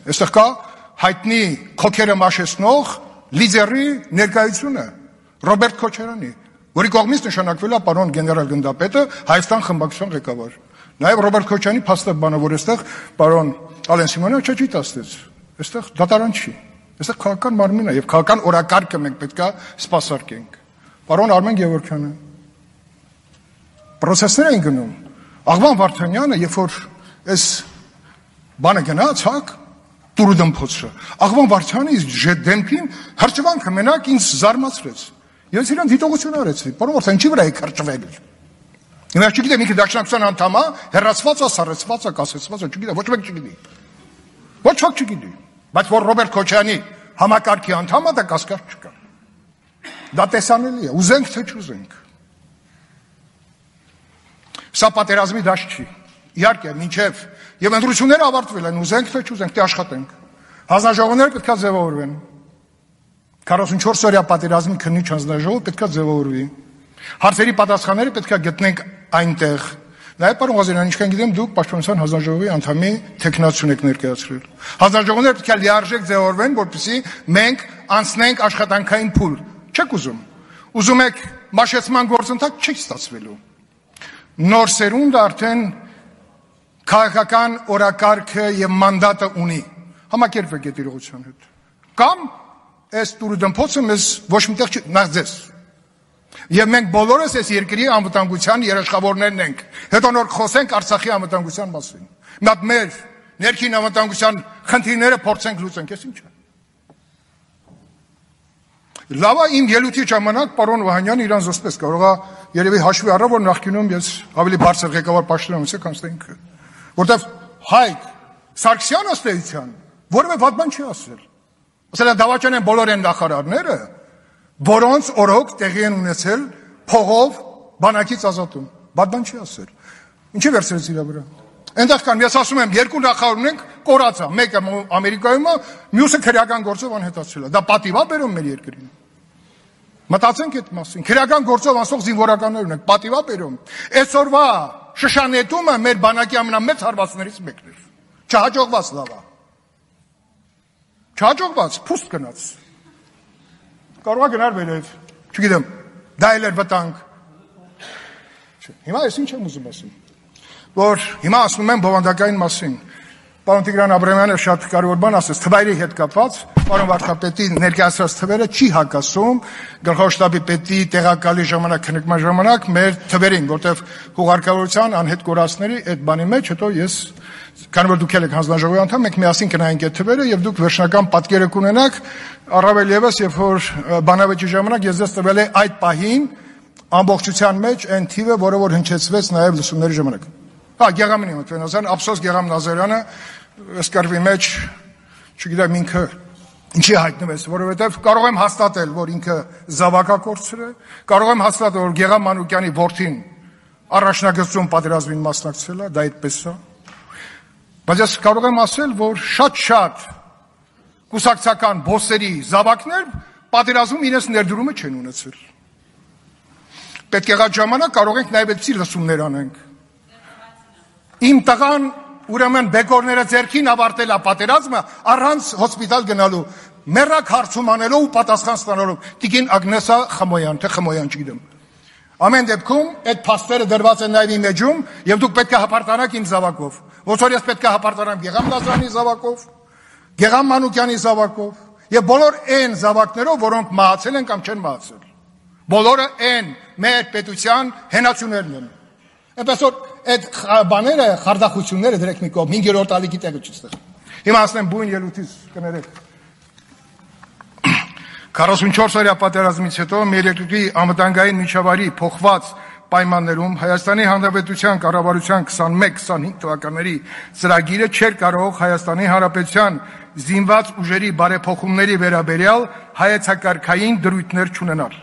Այստեղ կա հայտնի քոքերը մաշեցնող լիդերի ներկայությունը Ռոբերտ Քոչարյանի, որի կողմից նշանակվել է պարոն գեներալ գնդապետը Հայաստան խմբակցության ղեկավար։ Նաև Ռոբերտ Քոչարյանի փաստը բանը, որ այստեղ պարոն Ալեն Սիմոնյանը չի տասնեց։ Այստեղ դատարան չի։ Այստեղ քաղաքական մարմին է եւ քաղաքական օրակարգը մենք պետք է սպասարկենք։ Պարոն Արմեն Գևորգյանը պրոցեսներ են գնում։ Աղվան Վարդանյանը, երբ որ այս բանը գնաց, հակ տուրուդմփոցը, Աղվան Վարդյանի դեմքին հրճվանքը մենակ ինձ զարմացրեց։ Ես իրան դիտողություն արեցի։ Պարոն Վարդանյան, ինչի վրա եք հրճվել։ Հիմա չգիտեմ ինքը դաշնակցության անդամ է, հեռացված է, սառեցված է, կասեցված է, չգիտեմ, ոչ մեկ չգիտի։ Ոչ ոք չգիտի։ Բայց որ Ռոբերտ Քոչարյանի համակարգի անդամ է, դա կասկած չկա։ Դա տեսանելի է, ուզենք թե չուզենք։ Սա պատերազմի դաշտ չի։ Իհարկե, մինչև եւ ընտրությունները ավարտվել են, ուզենք թե չուզենք, դե աշխատենք։ Հանձնաժողովները պետք է ձևավորվեն։ 44 օրյա պատերազմի քննիչ հանձնաժողովը պետք է ձևավորվի։ Հարցերի պատասխանները պետք է գտնենք այնտեղ։ Նաև պարոն Ղազարյան, ինչքան գիտեմ, դուք Պաշտպանության հանձնաժողովի անդամի թեկնածություն եք ներկայացրել։ Հանձնաժողովները պետք է լիարժեք ձևավորվեն, որպեսզի մենք անցնենք աշխատանքային փուլ։ Չեք ուզում։ Ուզում եք մաշեցման գործընթաց, չի ստացվելու։ Նոր սերունդը արդեն քաղաքական օրակարգը եւ մանդատը ունի։ Համակերպվեք այդ իրողության հետ։ Կամ այս տուրուդմփոցը մեզ ոչ միտեղ չի, նախ ձեզ։ Եվ մենք բոլորս այս երկրի անվտանգության երաշխավորներն ենք։ Հետո նոր խոսենք Արցախի անվտանգության մասին։ Մի հատ մեր ներքին անվտանգության խնդիրները փորձենք լուծենք, ես ինչ է։ Լավ է, իմ ելույթի ժամանակ պարոն Վահանյանը իրան զսպեց, կարող է երևի հաշվի առա, որ նախկինում ես ավելի բարձր ղեկավար պաշտոնանոց եք անցել ինքը։ Որտեվ Հայկ Սարգսյանը ըստ էության որևէ վատ բան չի ասել։ Ասել է դավաճան են բոլոր այն նախարարները, որոնց օրոք տեղի են ունեցել փողով բանակից ազատում։ Բադ բան չի ասել։ Ինչի վերցրեց իր վրա։ Այնտեղ կան, ես ասում եմ, երկու նախարար ունենք, կորացա, մեկը Ամերիկայում է, մյուսը քրեական գործով անհետացրել է։ Դա պատիվ է բերում մեր երկրին։ Մտածենք այդ մասին։ Քրեական գործով անցող զինվորականներ ունենք, պատիվ է բերում։ Այսօրվա շշանետումը մեր բանակի ամենամեծ հարվածներից մեկն էր։ Չհաջողված լավ է։ Չհաջողված, փուստ գնաց։ Կարող է գնար վերև, չգիտեմ, դա էլ էր վտանգ։ Հիմա ես ինչ եմ ուզում ասում, որ հիմա ասում եմ բովանդակային մասին։ Պարոն Տիգրան Աբրամյանը շատ կարևոր բան ասեց, թվերի հետ կապված, պարոն վարչապետի ներկայացրած թվերը չի հակասում գլխավոր շտաբի պետի տեղակալի ժամանակ, քննարկման ժամանակ մեր թվերին, որտեղ հուղարկավորության անհետ կորածների այդ բանի մեջ, հետո ես, քանի որ դուք եք հանձնաժողովի անդամ, մենք միասին կնայենք այդ թվերը եւ դուք վերջնական պատկերը կունենաք, առավել եւս, երբ որ բանավեճի ժամանակ ես ձեզ տվել եմ այդ պահին ամբողջության մեջ այն թիվը, որը որ հնչեցվեց նաեւ լսումների ժամանակ։ Հա, Գեղամնի Մթվենազարյան, ափսոս Գեղամ Նազարյանը այս կարգի մեջ, չգիտեմ ինքը ինչի հայտնվեց, որովհետև կարող եմ հաստատել, որ ինքը զավակակորցր է, կարող եմ հաստատել, որ Գեղամ Մանուկյանի որդին առաջնագծում պատերազմին մասնակցել է, դա այդպես է։ Բայց ես կարող եմ ասել, որ շատ կուսակցական բոսերի զավակներ պատերազմում իրենց ներդրումը չեն ունեցել։ Պետք եղած ժամանակ կարող ենք նաև այդպիսի լսումներ անենք։ Իմ տղան ուրեմն բեկորները ձեռքին ավարտել է պատերազմը առանց հոսպիտալ գնալու, մեռակ հարցում անելով ու պատասխան ստանալով։ Տիկին Ագնեսա Խմոյան, թե Խմոյան չգիտեմ։ Ամեն դեպքում այդ փաստերը դրված են նաև իմ էջում եւ դուք պետք է հպարտանաք իմ զավակով։ Ոնց որ ես պետք է հպարտանամ Գեղամ Նազարյանի զավակով, Գեղամ Մանուկյանի զավակով եւ բոլոր այն զավակներով, որոնք մահացել են կամ չեն մահացել։ Բոլորը այն մեր պետության հենացուներն են։ Այնպես որ այդ բաները, խարդախությունները դրեք մի կողմ, 5-րդ ալիքի տեղը չստեղ։ Հիմա ասեմ բույն ելույթից կներեք։ 44 օրյա պատերազմից հետո մեր երկրի անվտանգային միջավայրի փոխված պայմաններում Հայաստանի Հանրապետության կառավարության 21-25 թվականների ծրագիրը չէր կարող Հայաստանի Հանրապետության զինված ուժերի բարեփոխումների վերաբերյալ հայեցակարգային դրույթներ չունենալ։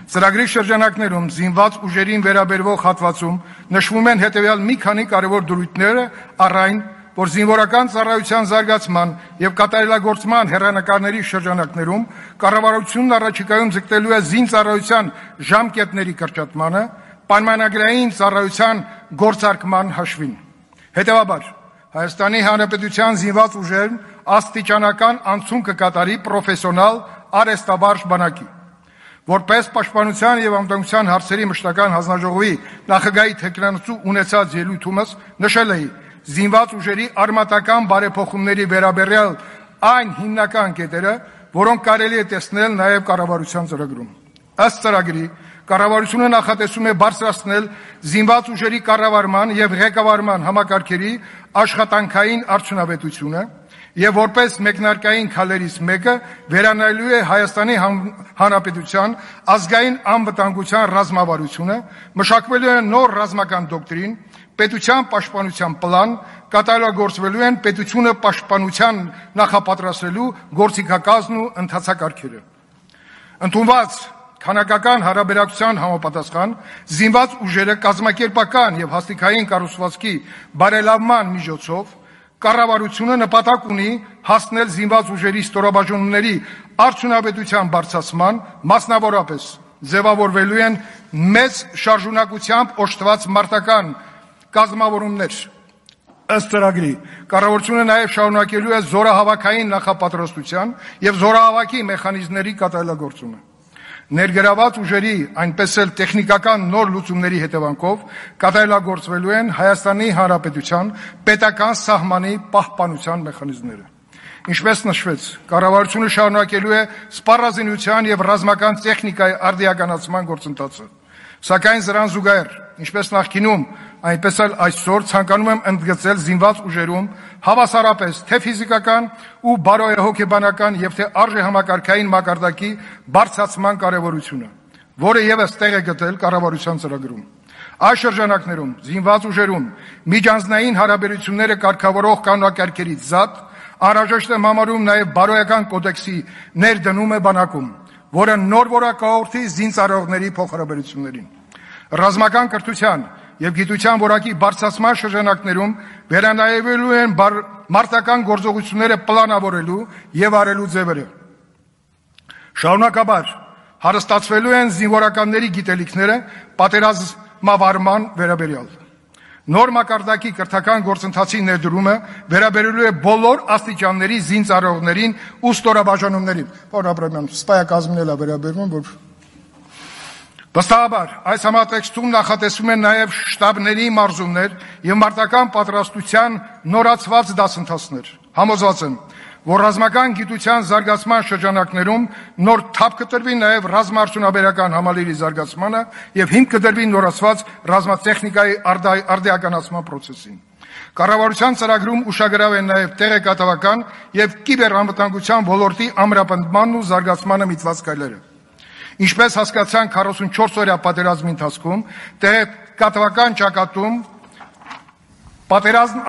Ծրագրի շրջանակներում զինված ուժերին վերաբերվող հատվածում նշվում են հետևյալ մի քանի կարևոր դրույթները, առ այն, որ զինվորական ծառայության զարգացման եւ կատարելագործման հեռանկարների շրջանակներում կառավարությունն առաջիկայում ձգտելու է զինծառայության ժամկետների կրճատմանը, պայմանագրային ծառայության գործարկման հաշվին։ Հետևաբար, Հայաստանի Հանրապետության զինված ուժերն աստիճանական անցում կկատարի պրոֆեսիոնալ արհեստաբարժ բանակի։ Որպես պաշտպանության եւ անվտանգության հարցերի մշտական հանձնաժողովի նախագահի թեկնածու ունեցած ելույթումս նշել էի զինված ուժերի արմատական բարեփոխումների վերաբերյալ այն հիմնական կետերը, որոնք կարելի է տեսնել նաեւ կառավարության ծրագրում։ Ըստ ծրագրի, կառավարությունը նախատեսում է բարձրացնել զինված ուժերի կառավարման եւ ղեկավարման համակարգերի աշխատանքային արդյունավետությունը եւ որպես մեկնարկային քայլերից մեկը վերանայելու է Հայաստանի Հանրապետության ազգային անվտանգության ռազմավարությունը, մշակվելու է նոր ռազմական դոկտրին, պետության պաշտպանության պլան, կատարելագործվելու են պետությունը պաշտպանության նախապատրաստելու գործիքակազմն ու ընթացակարգերը։ Ընդունված քանակական հարաբերակցության համապատասխան զինված ուժերը կազմակերպական եւ հաստիկային կառուցվածքի բարելավման միջոցով կառավարությունը նպատակ ունի հասնել զինված ուժերի ստորաբաժանումների արդյունավետության բարձրացման, մասնավորապես ձևավորվելու են մեծ շարժունակությամբ օժտված մարտական կազմավորումներ։ Ըստ ծրագրի, կառավարությունը նաև շարունակելու է զորահավաքային նախապատրաստության եւ զորահավաքի մեխանիզմների կատարելագործումը։ Ներգրաված ուժերի, այնպես էլ տեխնիկական նոր լուծումների հետևանքով կատարելագործվելու են Հայաստանի Հանրապետության պետական սահմանի պահպանության մեխանիզմները։ Ինչպես նշվեց, կառավարությունը շարունակելու է սպառազինության եւ ռազմական տեխնիկայի արդիականացման գործընթացը։ Սակայն զրան զուգահեռ, ինչպես նախկինում, այնպես էլ այսօր ցանկանում եմ ընդգծել զինված ուժերում հավասարապես թե ֆիզիկական ու բարոյահոգեբանական եւ թե արժեհամակարգային մակարդակի բարձրացման կարեւորությունը, որը եւս տեղ է գտել կառավարության ծրագրում։ Այս շրջանակներում զինված ուժերում միջանձնային հարաբերությունները կարգավորող կանոնակարգերից զատ անհրաժեշտ է համարում նաեւ բարոյական կոդեքսի ներդնումը բանակում, որը նոր որակահորթի զինծառայողների փոխհարաբերություններին։ Ռազմական կրթության եւ գիտության որակի բարձրացման շրջանակներում վերանայվելու են մարտական գործողությունները պլանավորելու եւ արելու ձևերը։ Շարունակաբար հարստացվելու են զինվորականների գիտելիքները պատերազմավարման վերաբերյալ։ Նոր մակարդակի կրթական գործընթացի ներդրումը վերաբերելու է բոլոր աստիճանների զինծառայողներին ու ստորաբաժանումներին։ Պարոն Աբրամյան, սպայակազմին էլ է վերաբերվում, որ վստահաբար այս համատեքստում նախատեսվում են նաև շտաբների մարզումներ եւ մարտական պատրաստության նորացված դասընթացներ։ Համոզված եմ, որ ռազմական գիտության զարգացման շրջանակներում նոր թափ կտրվի նաև ռազմաարդյունաբերական համալիրի զարգացմանը եւ հիմք կդրվի նորացված ռազմատեխնիկայի արդիականացման process-ին։ Կառավարության ծրագրում ուշագրավ են նաև տեղեկատվական եւ կիբերանվտանգության ոլորտի ամրապնդմանն ու զարգացմանը միտված քայլերը։ Ինչպես հասկացան 44-օրյա պատերազմի ընթացքում, տեղեկատվական ճակատում պատերազմ